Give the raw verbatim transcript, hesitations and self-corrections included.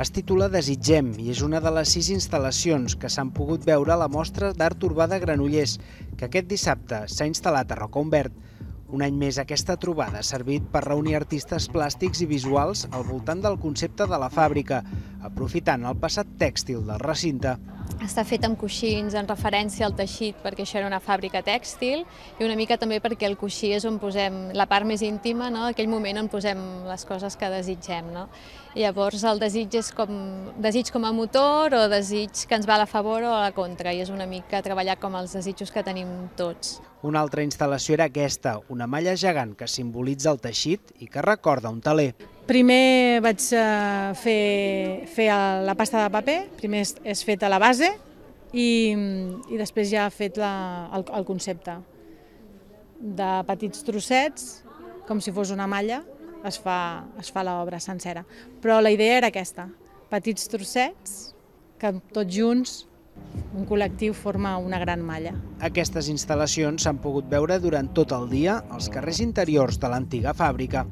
Es titula Desitgem i és una de les sis instal·lacions que s'han pogut veure a la mostra d'art urbà de Granollers, que aquest dissabte s'ha instal·lat a Rocahumbert. Un any més aquesta trobada ha servit per reunir artistes plàstics i visuals al voltant del concepte de la fàbrica, aprofitant el passat tèxtil del recinte. Està fet amb coixins en referència al teixit perquè això era una fàbrica tèxtil i una mica també perquè el coixí és on posem la part més íntima, no? Aquell moment on posem les coses que desitgem. No? Llavors el desig és com desig com a motor o desig que ens va a la favor o a la contra i és una mica treballar com els desitjos que tenim tots. Una altra instal·lació era aquesta, una malla gegant que simbolitza el teixit i que recorda un teler. Primer vaig fer, fer la pasta de paper, primer és feta la base i, i després ja ha fet la, el, el concepte. De petits trossets, com si fos una malla, es fa, es fa l'obra sencera. Però la idea era aquesta, petits trossets que tots junts un col·lectiu forma una gran malla. Aquestes instal·lacions s'han pogut veure durant tot el dia als carrers interiors de l'antiga fàbrica.